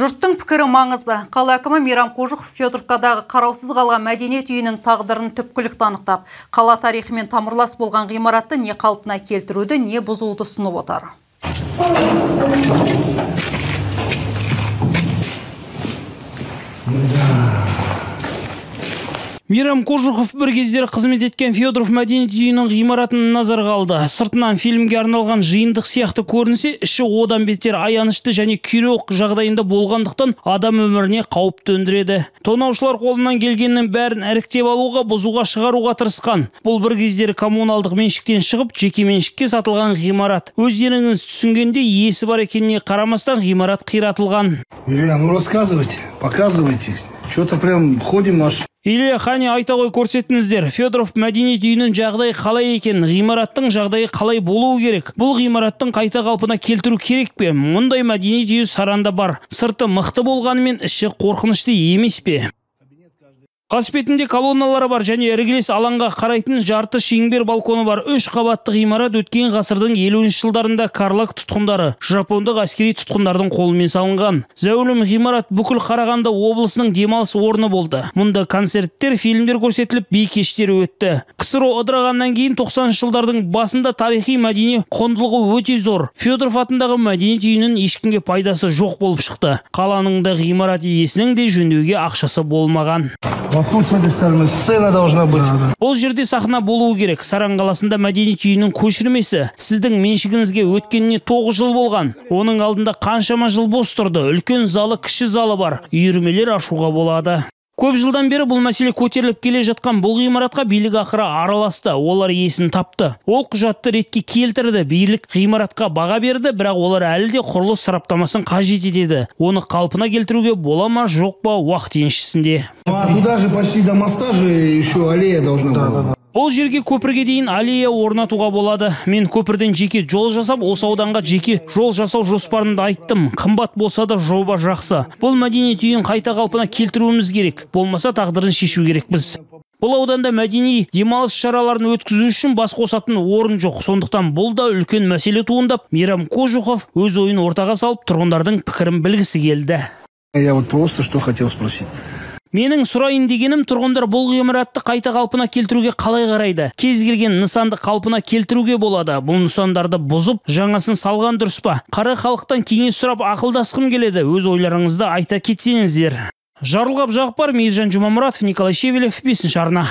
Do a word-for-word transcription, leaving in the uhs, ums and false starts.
Жұрттың пікірі маңызды. Қала әкімі Мейрам Қожықов Федоровкадағы қараусыз қалған мәдениет үйінің тағдырын түпкілікті анықтап, қала тарихымен тамырлас болған ғимаратты не қалпына келтіруді, не бұзуды ұсынып отыр. Мейрам Қожықов бір кездері қызмет еткен Федоров мәдениет үйінің ғимаратын назарға алды. Сыртынан фильмге арналған жиындық сияқты көрінсе, іші одан бетер аянышты және күйрек жағдайында болғандықтан адам өміріне қауіп төндіреді. Тонаушылар қолынан келгеннің бәрін іріктеп алуға, бұзуға, шығаруға тырысқан. Бұл бір кездері коммуналдық меншіктен шығып, жеке меншікке сатылған ғимарат. Өздеріңіз түсінгенде иесі бар екеніне қарамастан ғимарат қиратылған. Илья, ну рассказывайте, показывайте. Что-то прям ходим аж. Илья, қане айта ғой көрсетіңіздер. Федоров мәдениет үйінің жағдайы қалай екен, ғимараттың жағдайы қалай болуы керек? Бұл ғимараттың қайта қалпына келтіру керек пе? Мұндай мәдениет үйі Саранда бар. Сырты мықты болғанымен іші қорқынышты емес пе? Қасбетінде колонналары бар және іргелес алаңға қарайтын жарты шеңбер балконы бар. Үш қабатты ғимарат өткен ғасырдың елуінші жылдарында карлаг тұтқындары, жапондық әскери тұтқындардың қолымен салынған. Зәулім ғимарат бүкіл Қарағанды облысының демалыс орны болды. Мұнда концерттер, фильмдер көрсетіліп, би кештері өтті. КСРО ыдырағаннан кейін тоқсаныншы жылдардың басында тарихи мәдени құндылығы өте зор. Федоров атындағы мәдениет үйінің ешкімге пайдасы жоқ болып шықты. Қаланың да ғимарат иесінің де жөндеуге ақшасы болмаған. Тут с этой стороны сцена должна быть. Бұл жерде сахна болуы керек. Саран қаласында мәдениет үйінің көшірмесі. Сіздің меншігіңізге өткеніне тоғыз жыл болған. Оның алдында қаншама жыл бос тұрды. Үлкен залы, кіші залы бар. Үйірмелер ашуға болады. Көп жылдан бері бұл мәселе көтеріліп келе жатқан. Бұл ғимаратқа билік ақыры араласты. Олар иесін тапты. Ол құжатты ретке келтірді. Билік ғимаратқа баға берді, бірақ олар әлі де құрылыс сараптамасын қажет етеді. Оны қалпына келтіруге бола ма, жоқ па уақыт еншісінде. Туда же почти до моста же еще аллея должна была. Бұл жерге көпірге дейін аллея орнатуға болады. Мен көпірден жеке жол жасап, осы ауданға жеке жол жасау жоспарында айттым. Қымбат болса да жоба жақсы. Бұл мәдениет үйін қайта қалпына келтіруіміз керек. Болмаса тағдырын шешу керекпіз. Бұл ауданда мәдени демалыс шараларын өткізу үшін бас қосатын орын жоқ. Сондықтан бұл да үлкен мәселе туындап, Мейрам Қожықов өз ойын ортаға салып, тұрғындардың пікірін білгісі келді. Я вот просто что хотел спросить. Менің сұрайын дегенім, тұрғындар бұл ғимаратты қайта қалпына келтіруге қалай қарайды? Кез келген нысанды қалпына келтіруге болады. Бұл нысандарды бұзып, жаңасын салған дұрыс па? Қара халықтан кеңес сұрап ақылдасқым келеді. Өз ойларыңызды айта кетсеңіздер. Жарылғап Жақпар, Мейіржан Жұмамұратов, Николай Шевелев, бесінші арна.